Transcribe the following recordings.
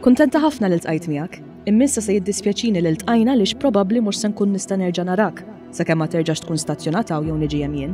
Kuntenta ħafna li ltqajt miegħek. Imma issa se jiddispjaċini li ltqajna għaliex probabbli mhux se nkun nista' nerġa' narak, sakemm ma terġax tkun stazzjonat hawn jew niġi hemm jien.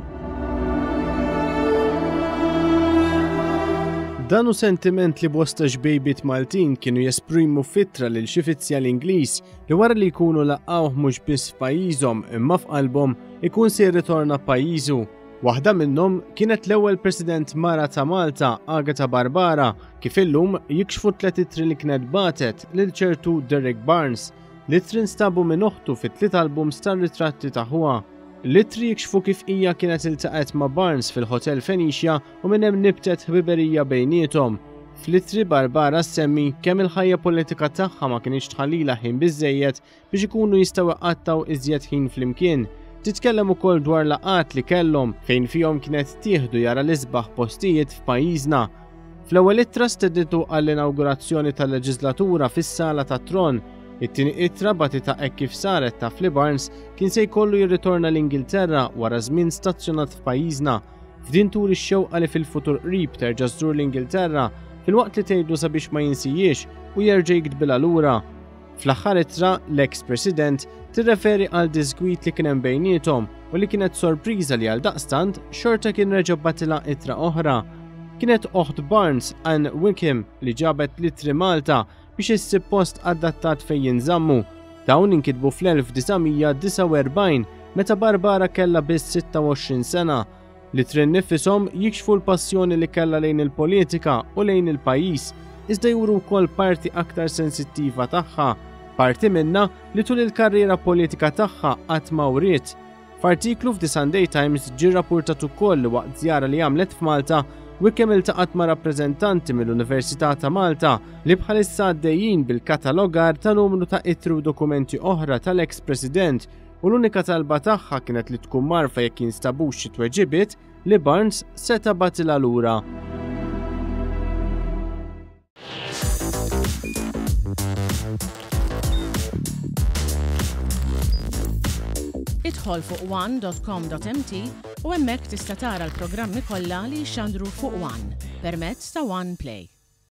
Dan hu sentiment li bosta xbejbiet Maltin kienu jesprimu f'ittra lil xi fizzjal Ingliż li wara li jkunu laqgħuh mhux biss f'pajjiżhom imma f'qalbhom ikun se jirritorna pajjiżu. Waħda minnhom kienet l-ewwel President mara ta' Malta, Agata Barbara, kif illum jikxfu tlet ittri li kienet bagħtet lil ċertu Derek Barnes. L-ittri nstabu minn oħtu fi tliet albums tar-ritratti ta' ħuha. L-ittri jikxfu kif hija kienet iltaqgħet ma' Barnes fil-Hotel Phoenicia u minn hemm nibtet ħbiberija bejniethom. Fl-ittri Barbara ssemmi kemm il-ħajja politika tagħha ma kinitx tħallilha ħin biżżejjed biex ikunu jistgħu iqattgħu iżjed ħin flimkien. Titkellem ukoll dwar laqgħat li kellhom fejn fihom kienet tieħdu jara l-isbaħ postijiet f'pajjiżna. Fl-ewwel ittra stednitu għall-inawgurazzjoni tal-leġiżlatura fis-sala tat-tron. It-tieni ittra bagħtitha hekk kif saret taf li Barnes kien se jkollu jirritorna l-Ingilterra wara żmien stazzjonat f'pajjiżna. F'din turi x-xewqa li fil-futur qrib terġa' żżur l-Ingilterra filwaqt li tgħidlu sabiex ma jinsijiex u jerġa' jiktbilha lura. Fl-aħħar ittra, l-eks President tirreferi għal diżgwid li kien hemm bejniethom u li kienet sorpriża li għaldaqstant xorta kien reġa' bagħtilha ittra oħra. Kienet oħt Barnes, Anne Wickham, li ġabet l-ittri Malta biex issib post adattat fejn jinżammu. Dawn inkitbu fl-1949 meta Barbara kellha biss 26 sena. L-ittri nnifishom jikxfu l-passjoni li kellha lejn il-politika u lejn il-pajjiż, iżda juru wkoll parti aktar sensittiva tagħha, parti minnha li tul il-karriera politika tagħha qatt ma wriet. F'artiklu f'The Sunday Times ġie rrappurtat ukoll li waqt żjara li għamlet f'Malta, Wickham iltaqgħet ma' rappreżentanti mill-Università ta' Malta li bħalissa għaddejjin bil-katalogar ta' numru ta' ittri u dokumenti oħra tal-eks President u l-unika talba tagħha kienet li tkun mgħarrfa jekk jinstabux xi tweġibiet li Barnes seta' bagħtilha lura. Idħol fuq one.com.mt u hemmhekk tista' tara l-programmi kollha li jixxandru fuq One permezz ta' One Play.